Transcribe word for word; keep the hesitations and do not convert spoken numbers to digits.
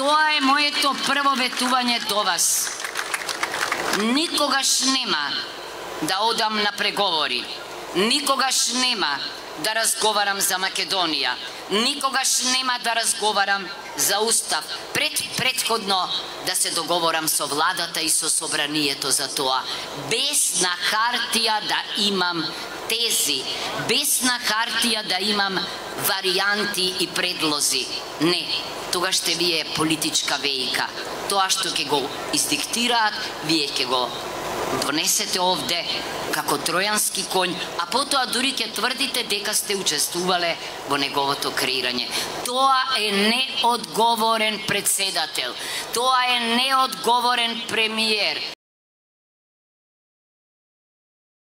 Тоа е моето прво ветување до вас. Никогаш нема да одам на преговори. Никогаш нема да разговарам за Македонија. Никогаш нема да разговарам за устав. Пред предходно да се договорам со владата и со собранието за тоа. Без на хартија да имам тези, без на хартија да имам варијанти и предлози. Не, тогаш ще вие политичка вејка. Тоа што ќе го издиктираат, вие ќе го донесете овде како тројански конј, а потоа дури ќе тврдите дека сте учествувале во неговото креирање. Тоа е неодговорен председател. Тоа е неодговорен премиер.